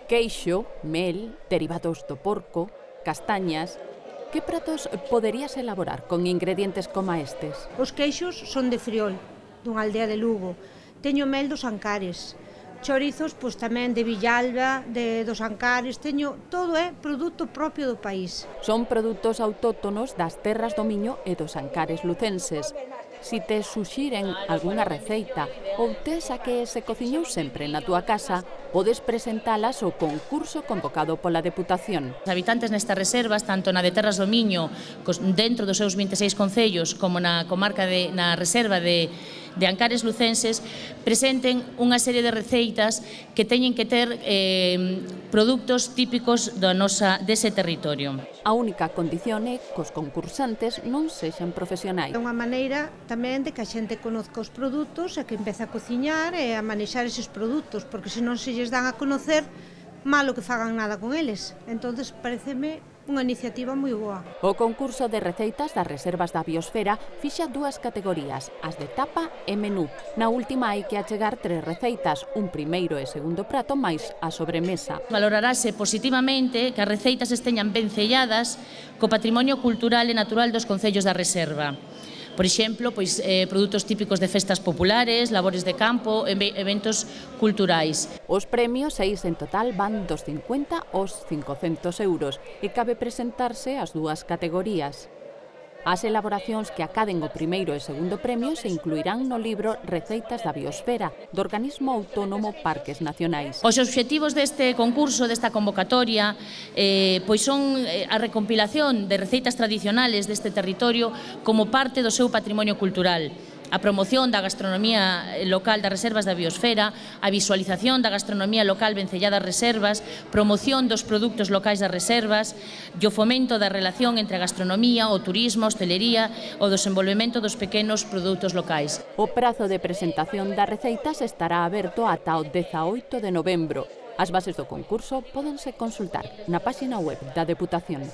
Queixo, mel, derivados do porco, castañas... Que pratos poderías elaborar con ingredientes como estes? Os queixos son de Friol, dunha aldea de Lugo. Teño mel dos Ancares. Chorizos, pois tamén de Villalba, dos Ancares. Teño, todo é produto propio do país. Son produtos autóctonos das terras do Miño e dos Ancares lucenses. Si te suxiren algunha receita ou tes a que se cociñou sempre na túa casa, podes presentalas ao concurso convocado pola Deputación. Os habitantes nestas reservas, tanto na de Terras do Miño, dentro dos seus 26 concellos, como na comarca na reserva de Ancares lucenses, presenten unha serie de receitas que teñen que ter produtos típicos dese territorio. A única condición é que os concursantes non sexan profesionais. É unha maneira tamén de que a xente conozca os produtos e que empece a cociñar e a manexar eses produtos, porque se non se lles dan a conocer, malo que fagan nada con eles. Entonces, pareceme unha iniciativa moi boa. O concurso de receitas das reservas da biosfera fixa dúas categorías, as de tapa e menú. Na última hai que achegar 3 receitas, un primeiro e segundo prato máis a sobremesa. Valorarase positivamente que as receitas esteñan ben selladas co patrimonio cultural e natural dos concellos da reserva. Por exemplo, produtos típicos de festas populares, labores de campo, eventos culturais. Os premios 6 en total van dos 50 aos 500 euros e cabe presentarse ás dúas categorías. As elaboracións que acaden o primeiro e segundo premio se incluirán no libro Receitas da Biosfera, do organismo autónomo Parques Nacionais. Os obxectivos deste concurso, desta convocatoria, son a recompilación de receitas tradicionales deste territorio como parte do seu patrimonio cultural, a promoción da gastronomía local das reservas da biosfera, a visualización da gastronomía local vencellada ás reservas, promoción dos produtos locais das reservas e o fomento da relación entre a gastronomía, o turismo, a hostelería e o desenvolvemento dos pequenos produtos locais. O prazo de presentación das receitas estará aberto ata o 18 de novembro. As bases do concurso pódense consultar na páxina web da Deputación.